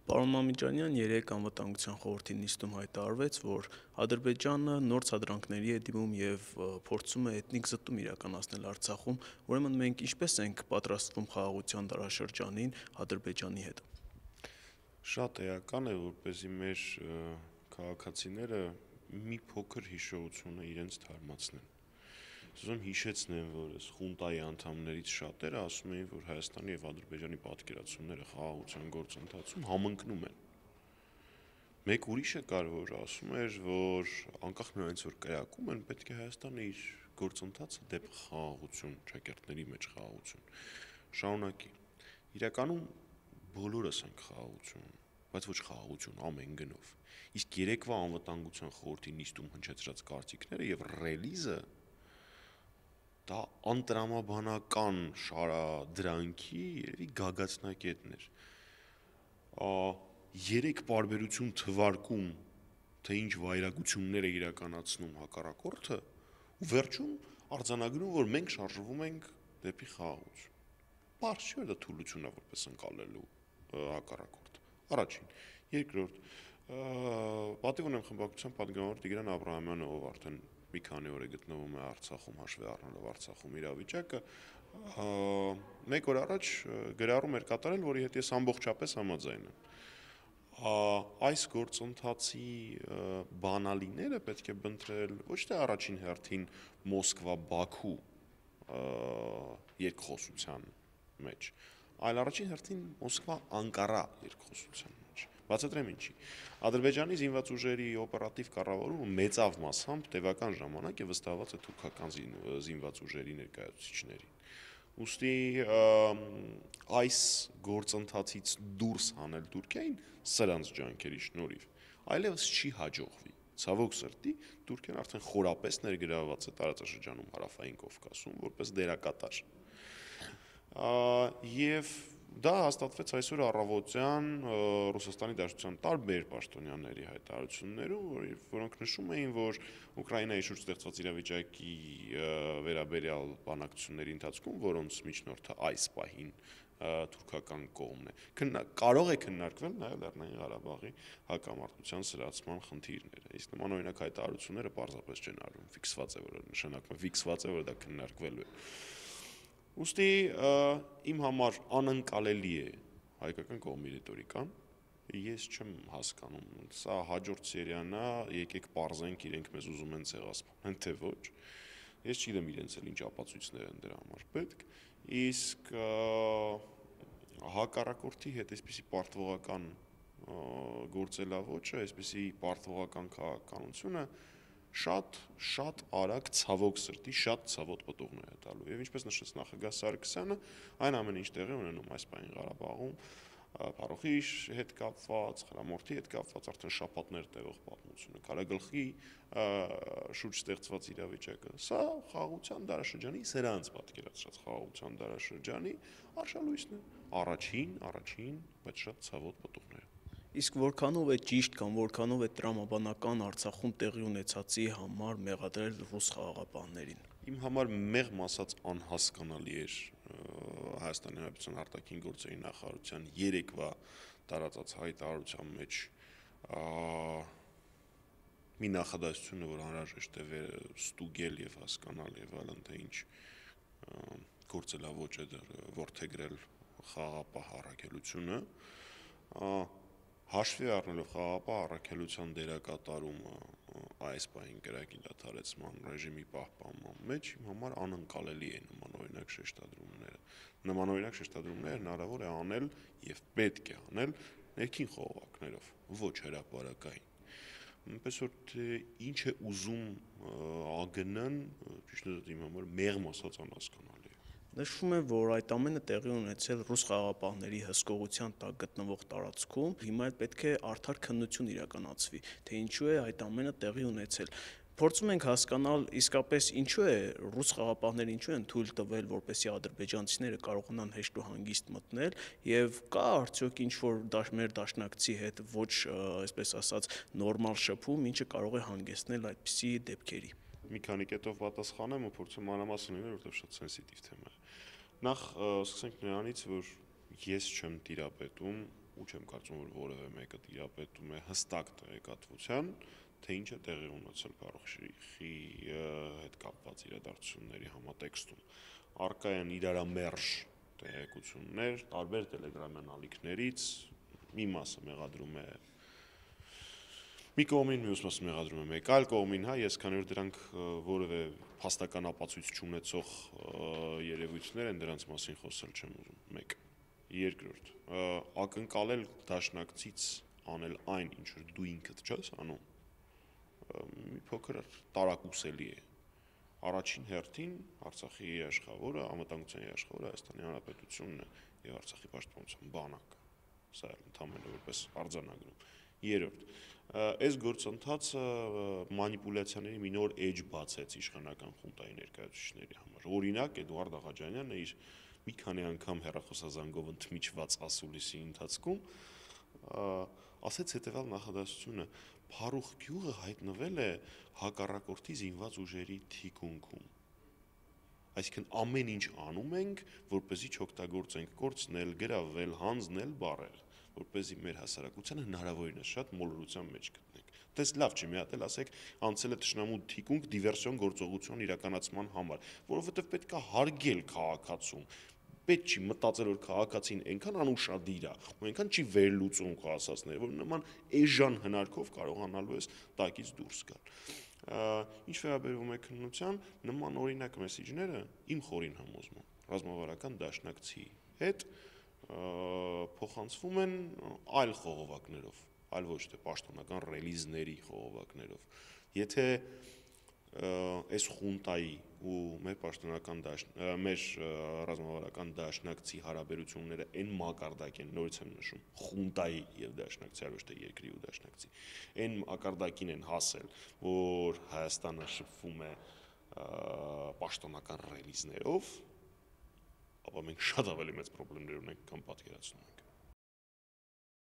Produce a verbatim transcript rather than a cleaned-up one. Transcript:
Պարոն Մամիջանյան, երեկ Անվտանգության խորհրդի նիստում հայտարարվեց, որ Ադրբեջանը նոր ցածրանքների է դիմում եւ փորձում է էթնիկ զտում իրականացնել Արցախում, ուրեմն մենք ինչպես ենք պատրաստվում խաղաղության դարաշրջանին Ադրբեջանի հետ։ Շատ էական է, որպեսզի մեր քաղաքացիները մի փոքր հիշողությունը իրենց թարմացնեն։ Ուզում հիշեցնեմ, որ այս խունտայի անդամներից շատերը ասում էին, որ Հայաստանի եւ Ադրբեջանի պատկերացումները խաղաղության գործընթացում համընկնում են։ Մեկ ուրիշը կար, որ ասում էր, որ անկախ նրանից որ կայակում են, պետք է Հայաստանը իր գործընթացը դեպի խաղաղություն, ճակերտների մեջ խաղաղություն շարունակի։ Իրականում բոլորս ենք խաղաղություն, բայց ոչ խաղաղություն ամեն գնով։ Իսկ երեկվա Անվտանգության խորհրդի նիստում հնչեցրած կարծիքները եւ ռելիզը դա անտրամաբանական շարադրանքի երևի գագաթնակետն էր։ Երեք պարբերություն թվարկում, թե ինչ վայրագություններ է իրականացնում հակառակորդը, ու վերջում արձանագրում, որ մենք շարժվում ենք դեպի խաղաղություն։ Պարզ չէ, դա թուլություն է որպես ընկալելու հակառակորդը։ Առաջին, երկրորդ, պատիվ ունեմ խմբակցության պատգամավոր Տիգրան Աբրահամյանը, ով արդեն մի քանի օր է գտնվում է Արցախում, հաշվի առնելով Արցախում իրավիճակը, մեկ օր առաջ գրառում էր կատարել, որի հետ ես ամբողջապես համաձայն եմ։ Այս գործընթացի բանալիները պետք է բնտրել ոչ թե առաջին հերթին Մոսկվա-Բաքու երկխոսության մեջ, այլ առաջին հերթին Մոսկվա-Անկարա երկխոսության մեջ։ Բացատրեմ ինչի։ Ադրբեջանի զինված ուժերի օպերատիվ կառավարումը մեծավ մասամբ տևական ժամանակ է վստահված է թուրքական զինված ուժերի ներկայացուցիչներին։ Ուստի այս գործընթացից դուրս հանել Թուրքիային սրանց ջանքերի շնորհիվ այլևս չի հաջողվի։ Ցավոք սրտի, Թուրքիան արդեն խորապես ներգրավված է տարածաշրջանում հարավային Կովկասում որպես դերակատար։ Եվ դա հաստատվեց այսօր առավոտյան Ռուսաստանի Դաշնության տարբեր պաշտոնյաների հայտարարություններում, որոնք նշում էին, որ Ուկրաինայի շուրջ ստեղծված իրավիճակի վերաբերյալ բանակցությունների ընթացքում, որոնց միջնորդը այս պահին թուրքական կողմն է, կարող է քննարկվել նաև Լեռնային Ղարաբաղի հակամարտության սրացման խնդիրները։ Իսկ նման օրինակ հայտարարությունները պարզապես չեն արվում, ֆիքսված է, որ նշանակում է ֆիքսված է, որ դա քննարկվելու է։ Ուստի իմ համար անընկալելի է հայկական կողմի ռետորիկան, ես չեմ հասկանում, սա հաջորդ սերիան է, եկեք պարզենք իրենք մեզ ուզում են ցեղասպանել, թե ոչ։ Ես չգիտեմ իրենց էլ ինչ ապացույցներ են դրա համար պետք, իսկ հակառակորդի հետ այսպիսի պարտվողական գործելավոճը, այսպիսի պարտվողական քաղաքականությունը շատ շատ արագ ցավոք սրտի շատ ցավոտ պտուղներ է տալու։ Եվ ինչպես նշեց նախագահ Սարգսյանը, այն ամեն ինչ տեղի ունենում այս պահին Ղարաբաղում, Փարոխի հետ կապված, Խրամորթի հետ կապված արդեն շաբաթներ տևող պատմությունը, Քարագլխի շուրջ ստեղծված իրավիճակը, սա խաղաղության դարաշրջանի սրանց պատկերացրած խաղաղության դարաշրջանի արշալույսն է։ Առաջին, առաջին, բայց շատ ցավոտ պտուղները։ Իսկ որքանով է ճիշտ կամ որքանով է տրամաբանական Արցախում տեղի ունեցածի համար մեղադրել ռուս խաղաղապահներին։ Իմ համար մեղմ ասած անհասկանալի էր Հայաստանի Հանրապետության արտաքին գործերի նախարարության երեկվա տարածած հայտարարության մեջ մի նախադասությունը, որ անհրաժեշտ է ստուգել եւ հասկանալ եւ այլն, թե ինչ գործելավոճ է որդեգրել խաղաղապահ առաքելությունը, հաշվի առնելով խաղաղապահ առաքելության դերակատարումը այս պահին կրակի դադարեցման ռեժիմի պահպանման մեջ իմ համար անընկալելի է նմանօրինակ շեշտադրումները։ Նմանօրինակ շեշտադրումներ հնարավոր է անել եւ պետք է անել ներքին խողովակներով, ոչ հրապարակային։ Այնպես որ թե ինչ է ուզում ԱԳՆ-ն, ճիշտ է իմ համար մեղմ ասած անհասկանալի է։ Նշվում է, որ այդ ամենը տեղի ունեցել ռուս խաղաղապահների հսկողության տակ գտնվող տարածքում, հիմա էլ պետք է արդար քննություն իրականացվի, թե ինչու է այդ ամենը տեղի ունեցել։ Փորձում ենք հասկանալ իսկապես ինչու է ռուս խաղաղապահները ինչու են թույլ տվել, որպեսզի ադրբեջանցիները կարողանան հեշտ ու հանգիստ մտնել, եւ կա արդյոք ինչ-որ մեր դաշնակցի հետ ոչ, այսպես ասած, նորմալ շփում, ինչը կարող է հանգեցնել այդպիսի դեպքերի։ Մի քանի կետով պատասխանեմ ու փորձեմ մանրամասն լինել, որովհետև շատ սենսիտիվ թեմա է։ Նախ սկսենք նրանից, որ ես չեմ տիրապետում ու չեմ կարծում, որ որևէ մեկը տիրապետում է հստակ տեղեկատվության, թե ինչ է տեղի ունեցել Փարուխի հետ կապված իրադարձությունների համատեքստում։ Առկա են իրարամերժ տեղեկություններ, տարբեր տելեգրամյան ալիքներից, մի մասը մեղադրում է մի կողմին, մյուս մասը մեղադրում է մեկ այլ կողմին, հա, ես քանի որ դրանք որևէ փաստական ապացույց չունեցող երևույթներ են, դրանց մասին խոսել չեմ ուզում։ Մեկ։ Երկրորդ, ակնկալել դաշնակցից անել այն, ինչ որ դու ինքդ չես անում, մի փոքր տարակուսելի է։ Առաջին հերթին Արցախի երաշխավորը, անվտանգության երաշխավորը Հայաստանի Հանրապետությունն է եւ Արցախի պաշտպանության բանակը։ Սա էլ ընդհանրապես որպես արձանագրում։ Երրորդ, այս գործընթացը մանիպուլյացիաների մի նոր էջ բացեց իշխանական խունտայի ներկայացուցիչների համար։ Օրինակ, Էդուարդ Աղաջանյանը իր մի քանի անգամ հեռախոսազանգով ընդմիջված ասուլիսի ընթացքում ասեց հետևյալ նախադասությունը. Փարուխ գյուղը հայտնվել է հակառակորդի զինված ուժերի թիկունքում։ Այսինքն ամեն ինչ անում ենք, որպեսզի չօգտագործենք կորցնել, գրավել, հանձնել բառերը, որպեսզի մեր հասարակությանը հնարավորինս շատ մոլորության մեջ գտնենք։ Դες լավ չի, մի հատ էլ ասեք, անցել է թշնամու թիկունք դիվերսիոն գործողություն իրականացման համար, որովհետև պետք է հարգել քաղաքացուն։ Պետք չի մտածել, որ քաղաքացին այնքան անուշադիր է, ու այնքան չի վերլուծում քո ասածները, որ նման էժան հնարքով կարողանալու ես տակից դուրս գալ։ Ինչ վերաբերում է քննության, նման օրինակ մեսիջները իմ խորին համոզմամբ ռազմավարական դաշնակցի հետ փոխանցվում են այլ խողովակներով, այլ ոչ թե պաշտոնական ռելիզների խողովակներով։ Եթե այս խունտայի ու մեր պաշտոնական մեր ռազմավարական դաշնակցի հարաբերությունները այն մակարդակ են, նորից եմ նշում, խունտայի եւ դաշնակցի, ոչ թե երկրի ու դաշնակցի, այն մակարդակին են հասել, որ Հայաստանը շփվում է պաշտոնական ռելիզներով, ապա մենք շատ ավելի մեծ խնդիրներ ունենք, քան պատկերացնում ենք։